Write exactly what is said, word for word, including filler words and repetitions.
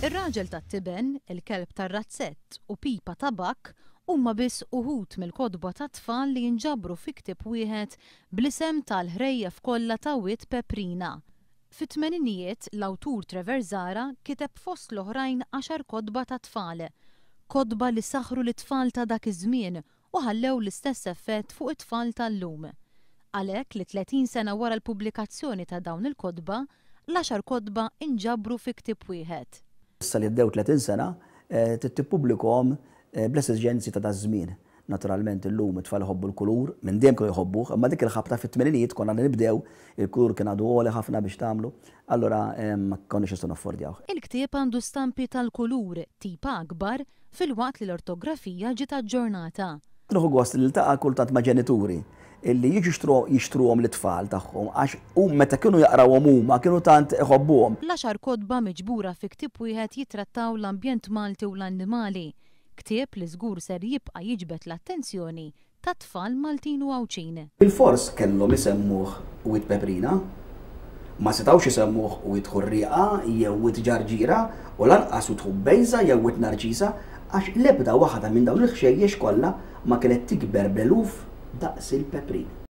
Ir-Raġel tat-Tiben, Il-Kelb tar-Razzett u Pipa Tabakk huma biss uħud mill-kotba tat-tfal li jinġabru fi ktieb wieħed bl-isem tal-Ħrejjef Kollha ta' Wied Peprina. Fit-tmeninijiet l-awtur Trevor Zahra kiteb fost l-oħrajn għaxar kotba tat-tfal. Kotba li saħru lit-tfal ta' dak iż-żmien u ħallew l-istess effett fuq it-tfal tal-lum. Għalhekk li tletin sena wara l-pubblikazzjoni ta' dawn il-kotba, l-għaxar kotba inġabru fi ktieb wieħed. Issa li għaddew tletin sena, trid tippubblikhom bl-esiġenzi ta' daż-żmien. Naturalment illum it-tfal iħobbu l-kulur, minn dejjem kienu jħobbuh, imma dik il-ħabta fit-tmeninijiet konna nibdew, il-kulur kien għadu għoli ħafna biex tagħmlu, allura ma konniex nistgħu naffordjawh. Il-ktieb għandu stampi tal-kulur tipa akbar filwaqt li l-ortografija ġiet aġġornata. Nieħu gost li niltaqa' kultant ma' ġenituri illi jiġu jixtruhom lit-tfal tagħhom għax hum meta kienu jaqrawhom huma kienu tant iħobbuhom. L-għaxar kotba miġbura fi ktieb wieħed jitrattaw l-ambjent Malti u l-annimali. Ktieb li żgur ser jibqa' jiġbed l-attenzjoni tat-tfal Maltin u Għawdxin. Bilfors kellhom isemmuh Wied Peprina, ma setgħux isemmuh Wied Ħurrieqa jew Wied Ġarġira u lanqas Wied Ħubbejża jew Wied Narċisa għax l-ebda waħda minn dawn il-ħxejjex kollha ma kienet tikber bl-eluf daqs il-peprin.